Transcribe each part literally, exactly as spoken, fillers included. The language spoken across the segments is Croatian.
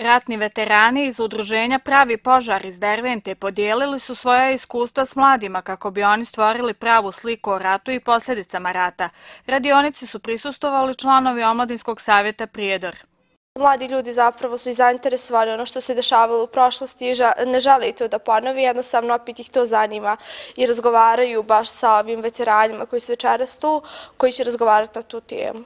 Ratni veterani iz udruženja Pravi požar iz Dervente podijelili su svoja iskustva s mladima kako bi oni stvorili pravu sliku o ratu i posljedicama rata. Radionici su prisustvovali članovi Omladinskog savjeta Prijedor. Mladi ljudi zapravo su i zainteresovani ono što se dešavalo u prošlosti i ne žele i to da ponovi, jednostavno opet ih to zanima i razgovaraju baš sa ovim veteranima koji su večeras tu, koji će razgovarati na tu temu.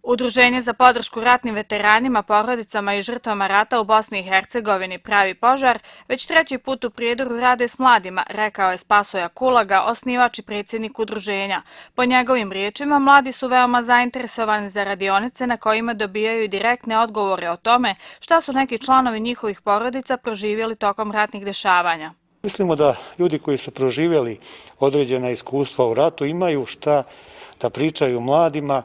Udruženje za podršku ratnim veteranima, porodicama i žrtvama rata u Bosni i Hercegovini Pravi požar već treći put u Prijedoru rade s mladima, rekao je Spasoja Kulaga, osnivač i predsjednik udruženja. Po njegovim riječima, mladi su veoma zainteresovani za radionice na kojima dobijaju direktne odgovore o tome šta su neki članovi njihovih porodica proživjeli tokom ratnih dešavanja. Mislimo da ljudi koji su proživjeli određena iskustva u ratu imaju šta da pričaju mladima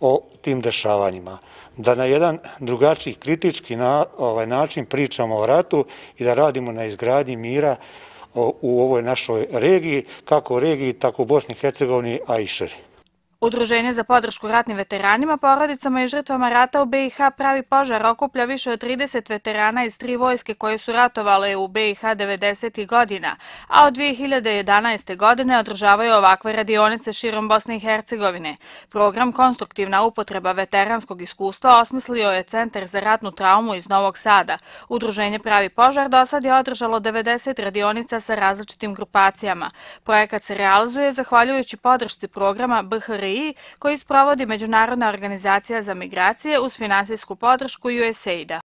o tim dešavanjima, da na jedan drugačiji kritički na, ovaj, način pričamo o ratu i da radimo na izgradnji mira o, u ovoj našoj regiji, kako u regiji, tako u Bosni i Hercegovini, a i šire. Udruženje za podršku ratnim veteranima, porodicama i žrtvama rata u be i ha Pravi požar okuplja više od trideset veterana iz tri vojske koje su ratovale u be i ha devedesetih godina, a od dvije hiljade jedanaeste. godine održavaju ovakve radionice širom Bosne i Hercegovine. Program Konstruktivna upotreba veteranskog iskustva osmislio je Centar za ratnu traumu iz Novog Sada. Udruženje Pravi požar do sad je održalo devedeset radionica sa različitim grupacijama. Projekat se realizuje zahvaljujući podršci programa be ha er i koji sprovodi Međunarodna organizacija za migracije uz finansijsku podršku ju es a ida.